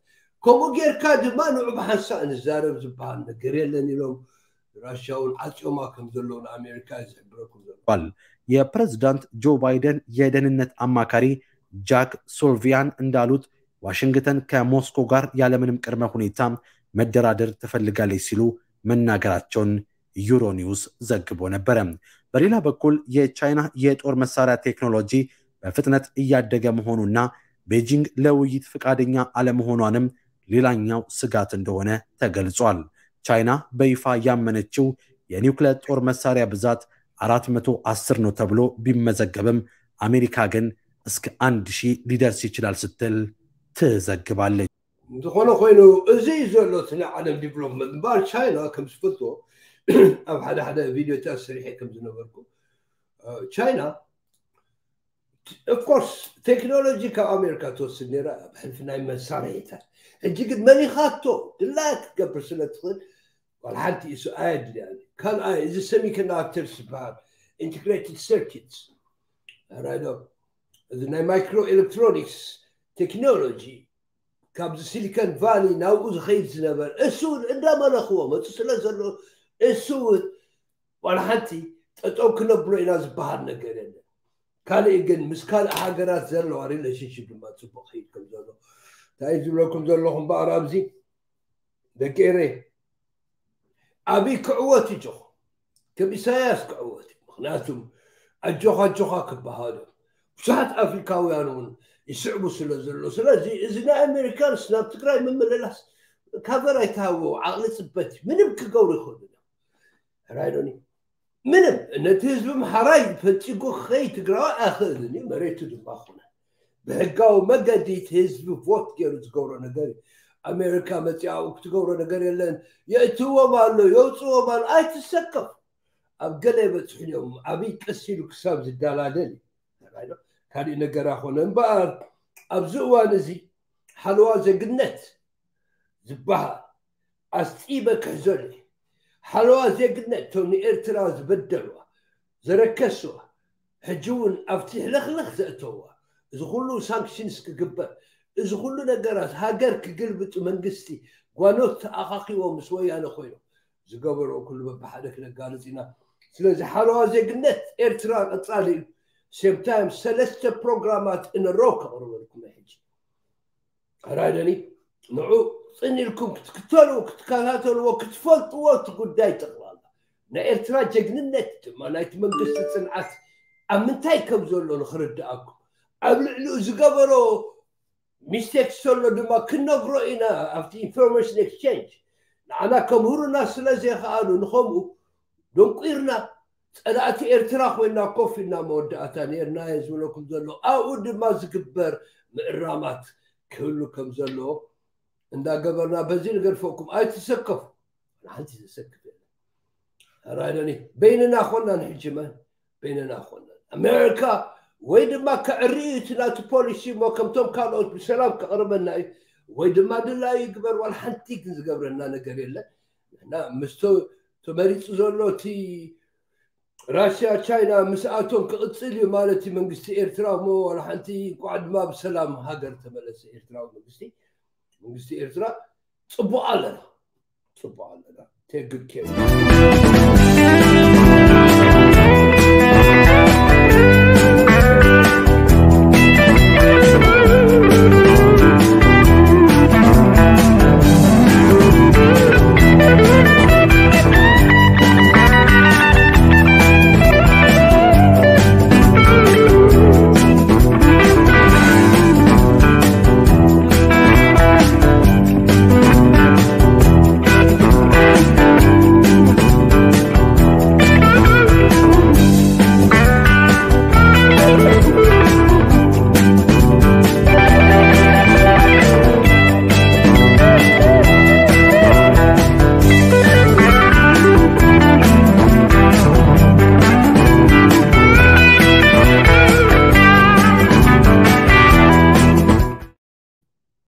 ከምኡ ጌርካ ድማ ንዑ ብሓንሳእ ንዛረብ ዝበሃል ነገር የለን ኢሎም ራሽያ እውን ዓፅዮማ ከም ዘለዉ ንኣሜሪካ እዩ ዝሕብረኩም ዘሎ። የፕሬዝዳንት ጆ ባይደን የደህንነት አማካሪ ጃክ ሱልቪያን እንዳሉት ዋሽንግተን ከሞስኮ ጋር ያለምንም ቅድመ ሁኔታ መደራደር ትፈልጋለች ሲሉ መናገራቸውን ዩሮኒውስ ዘግቦ ነበረ። በሌላ በኩል የቻይና የጦር መሳሪያ ቴክኖሎጂ በፍጥነት እያደገ መሆኑና ቤጂንግ ለውይይት ፈቃደኛ አለመሆኗንም ሌላኛው ስጋት እንደሆነ ተገልጿል። ቻይና በይፋ ያመነችው የኒውክሌር ጦር መሳሪያ ብዛት አራት መቶ አስር ነው ተብሎ ቢመዘገብም አሜሪካ ግን እስከ አንድ ሺህ ሊደርስ ይችላል ስትል ትዘግባለች። እንተኾነ ኮይኑ እዚ እዩ ዘሎ እቲ ናይ ዓለም ዲቨሎፕመንት እምበኣር ቻይና ከም ዝፈልጦ ኣብ ሓደ ሓደ ቪድዮታት ሰሪሐ ከም ዝነበርኩ ቻይና ኦፍኮርስ ቴክኖሎጂ ካብ ኣሜሪካ ትወስድ ነራ ኣብ ሕልፊ ናይ መሳርሒታት ሕጂ ግን መሊኻቶ ድላያ ክትገብር ስለ ትኽእል ዋላ ሓንቲ እሱ ኣየድልያን ካልኣይ እዚ ሰሚኮንዳክተርስ ዝበሃል ኢንትግሬትድ ሰርኪትስ ራይዶ እዚ ናይ ማይክሮ ኤሌክትሮኒክስ ቴክኖሎጂ ካብዚ ሲሊኮን ቫሊ ናብኡ ዝኸይድ ዝነበር እሱ እውን እንዳመለኽዎ መፁ ስለ ዘሎ እሱ እውን ዋላ ሓንቲ ጠጠው ክነብሎ ኢና ዝበሃል ነገር የለን ካልእ ግን ምስ ካልእ ሃገራት ዘለዋ ሪሌሽንሽፕ ድማ ፅቡቅ ከይድ ከም ዘሎ እንታይ ዝብለኩም ዘለኹም በኣር ኣብዚ ደቂ ኤረ ኣብይ ክዕወት እዩ ጆኹ ከም ኢሳያስ ክዕወት እዩ ምክንያቱም ኣጆኻ ኣጆኻ ክበሃሉ ብዙሓት ኣፍሪካውያን እውን ይስዕቡ ስለ ዘሎ ስለዚ እዚ ናይ ኣሜሪካንስ ናብ ትግራይ ምምልላስ ካቨር ኣይተሃወ ዓቕሊ ፅበት እዩ ምንም ክገብሩ ይኽእሉ እዮም ራይዶኒ ምንም ነቲ ህዝቢ ምሓራይ ፈንፂጉ ክኸይ ትግራዊ ኣይኽእልን እዩ መሬቱ ድማ ኮነ ብሕጋዊ መገዲ እቲ ህዝቢ ቮት ገይሩ ዝገብሮ ነገር እዩ ኣሜሪካ መፂኣ ክትገብሮ ነገር የለን የእትዎም ኣሎ የውፅዎም ኣሎ ኣይትሰከፍ ኣብ ገለ የበፅሑን እዮም ኣብይ ቀስ ኢሉ ክሳብ ዝደላደል እዩ ካልእ ነገር ኣኾነ እምበኣር ኣብዚ እዋን እዚ ሓለዋ ዜግነት ዝበሃል ኣስጢበ ክሕዘሉ ሓለዋ ዜግነት እቶም ንኤርትራ ዝበደልዋ ዘረከስዋ ሕጂ እውን ኣብቲ ሕልኽልኽ ዘእተውዋ እዚ ኩሉ ሳንክሽንስ ክግበር እዚ ኩሉ ነገራት ሃገር ክግልብጡ መንግስቲ ጓኖት ተኣኻኺቦ ምስ ወያነ ኮይኖም ዝገበርኦ ኩሉ በብሓደ ክነጋልፅ ኢና ስለዚ ሓለዋ ዜግነት ኤርትራ ቀፃሊ እዩ ሴም ታይም ሰለስተ ፕሮግራማት እነሮ ከቕርበልኩም ሕጂ ራይደኒ ንዑ ፅን ኢልኩም ክትክተሉ ክትከታተልዎ ክትፈልጥዎ እቲ ጉዳይ ጠቕላላ ናይ ኤርትራ ጀግንነት ድማ ናይቲ መንግስቲ ፅንዓት ኣብ ምንታይ ከም ዘሎ ንክርድኣኩም ኣብ ልዕሊኡ ዝገበሮ ሚስቴክ ዘሎ ድማ ክነግሮ ኢና ኣብቲ ኢንፎርሜሽን ኤክስቸንጅ ንዓና ከምህሩና ስለ ዘይከኣሉ ንኸምኡ ደንቁርና ፀላእቲ ኤርትራ ኮይና ኮፍ ኢልና መወዳእታ ነርና እየ ዝብለኩም ዘሎ ኣብኡ ድማ ዝግበር ምእራማት ክህሉ ከም ዘለዎ እንዳገበርና በዚ ንገድፈኩም ኣይትሰከፉ ሓንቲ ዘሰክፍ የለን ራይደኒ በይንና ኮና ንሕጂ መን በይንና ኮና ኣሜሪካ ወይ ድማ ከዕሪ እዩ እቲ ናቱ ፖሊሲ እሞ ከምቶም ካልኦት ብሰላም ከቕርበና እዩ ወይ ድማ ድላዩ ይግበር ዋላ ሓንቲ ግን ዝገብረና ነገር የለን ንሕና ምስ ተመሪፁ ዘሎ እቲ ራሽያ ቻይና ምስኣቶም ክቕፅል እዩ ማለት እዩ መንግስቲ ኤርትራ እሞ ዋላ ሓንቲ እንኳዕ ድማ ብሰላም ሃገር ተመለሰ ኤርትራዊ መንግስቲ መንግስቲ ኤርትራ ፅቡቅ ኣለና ፅቡቅ ኣለና take good care